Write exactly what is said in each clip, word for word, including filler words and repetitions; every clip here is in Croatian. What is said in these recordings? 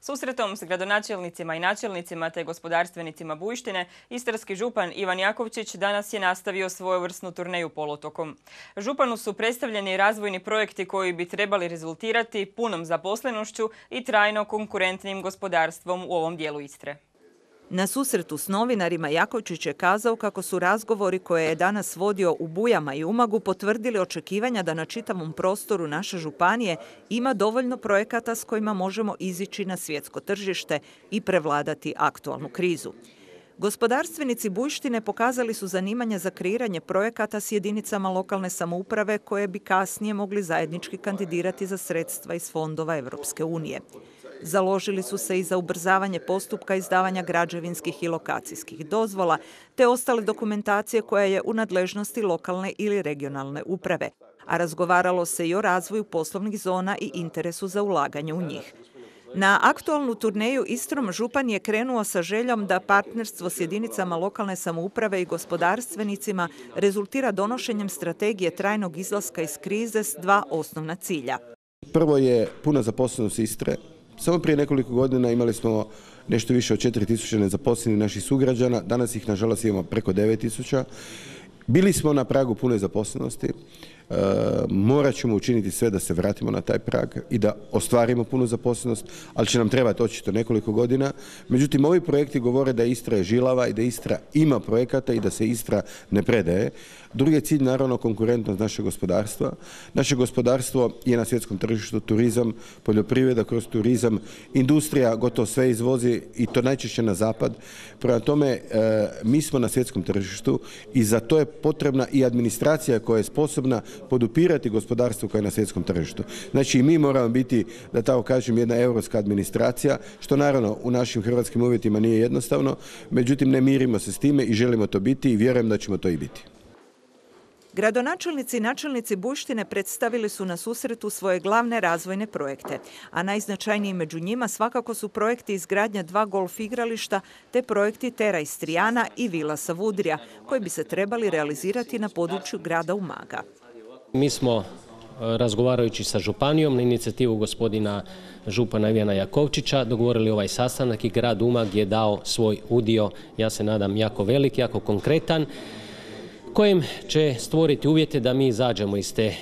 Susretom s gradonačelnicima i načelnicima te gospodarstvenicima Bujštine, istarski župan Ivan Jakovčić danas je nastavio svojevrsnu turneju poluotokom. Županu su predstavljeni razvojni projekti koji bi trebali rezultirati punom zaposlenošću i trajno konkurentnim gospodarstvom u ovom dijelu Istre. Na susretu s novinarima Jakovčić je kazao kako su razgovori koje je danas vodio u Bujama i Umagu potvrdili očekivanja da na čitavom prostoru naše županije ima dovoljno projekata s kojima možemo izići na svjetsko tržište i prevladati aktualnu krizu. Gospodarstvenici Bujštine pokazali su zanimanje za kreiranje projekata s jedinicama lokalne samouprave koje bi kasnije mogli zajednički kandidirati za sredstva iz fondova Europske unije. Založili su se i za ubrzavanje postupka izdavanja građevinskih i lokacijskih dozvola te ostale dokumentacije koja je u nadležnosti lokalne ili regionalne uprave, a razgovaralo se i o razvoju poslovnih zona i interesu za ulaganje u njih. Na aktualnu turneju Istrom župan je krenuo sa željom da partnerstvo s jedinicama lokalne samouprave i gospodarstvenicima rezultira donošenjem strategije trajnog izlaska iz krize s dva osnovna cilja. Prvo je puna zaposlenost Istre. Samo prije nekoliko godina imali smo nešto više od četiri tisuće nezaposlenih naših sugrađana, danas ih nažalost imamo preko devet tisuća. Bili smo na pragu pune zaposlenosti, e, morat ćemo učiniti sve da se vratimo na taj prag i da ostvarimo punu zaposlenost, ali će nam trebati očito nekoliko godina. Međutim, ovi projekti govore da Istra je žilava i da Istra ima projekata i da se Istra ne predaje. Drugi je cilj naravno konkurentnost našeg gospodarstva. Naše gospodarstvo je na svjetskom tržištu, turizam, poljoprivreda kroz turizam, industrija gotovo sve izvozi i to najčešće na zapad. Prema tome, e, mi smo na svjetskom tržištu i za to je potrebna i administracija koja je sposobna podupirati gospodarstvo koje je na svjetskom tržištu. Znači i mi moramo biti, da tako kažem, jedna europska administracija, što naravno u našim hrvatskim uvjetima nije jednostavno, međutim ne mirimo se s time i želimo to biti i vjerujem da ćemo to i biti. Gradonačelnici i načelnici Bujštine predstavili su na susretu svoje glavne razvojne projekte, a najznačajniji među njima svakako su projekti izgradnja dva golf igrališta te projekti Terra Istrijana i Vila Savudrija, koji bi se trebali realizirati na području grada Umaga. Mi smo, razgovarajući sa županijom na inicijativu gospodina župana Ivana Jakovčića, dogovorili ovaj sastanak i grad Umag je dao svoj udio, ja se nadam jako velik, jako konkretan, kojim će stvoriti uvjete da mi izađemo iz te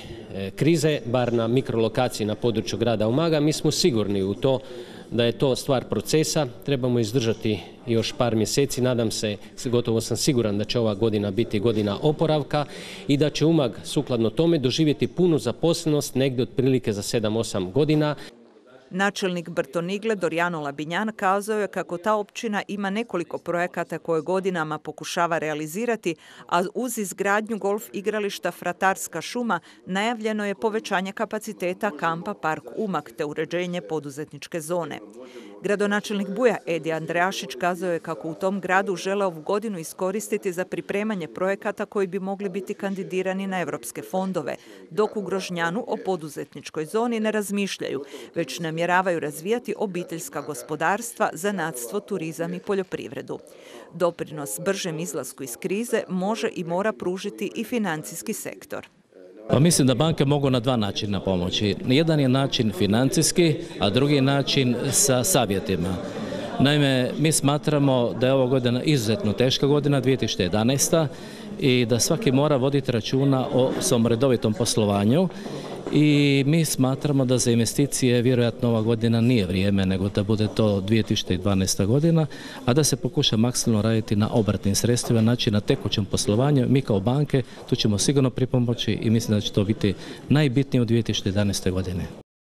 krize, bar na mikrolokaciji na području grada Umaga. Mi smo sigurni u to da je to stvar procesa, trebamo izdržati još par mjeseci, nadam se, gotovo sam siguran da će ova godina biti godina oporavka i da će Umag sukladno tome doživjeti punu zaposlenost negdje otprilike za sedam osam godina. Načelnik Brtonigle Dorjano Labinjan kazao je kako ta općina ima nekoliko projekata koje godinama pokušava realizirati, a uz izgradnju golf igrališta Fratarska šuma najavljeno je povećanje kapaciteta kampa Park Umag te uređenje poduzetničke zone. Gradonačelnik Buja Edi Andrejašić kazao je kako u tom gradu žele ovu godinu iskoristiti za pripremanje projekata koji bi mogli biti kandidirani na europske fondove, dok u Grožnjanu o poduzetničkoj zoni ne razmišljaju, već namjeravaju razvijati obiteljska gospodarstva, zanatstvo, turizam i poljoprivredu. Doprinos bržem izlasku iz krize može i mora pružiti i financijski sektor. Pa mislim da banke mogu na dva načina pomoći. Jedan je način financijski, a drugi način sa savjetima. Naime, mi smatramo da je ova godina izuzetno teška godina, dvije tisuće jedanaesta, i da svaki mora voditi računa o svom redovitom poslovanju. I mi smatramo da za investicije vjerojatno ova godina nije vrijeme, nego da bude to dvije tisuće dvanaesta godina, a da se pokuša maksimalno raditi na obrtnim sredstvima, znači na tekućem poslovanju. Mi kao banke tu ćemo sigurno pripomoći i mislim da će to biti najbitnije u dvije tisuće jedanaeste godine.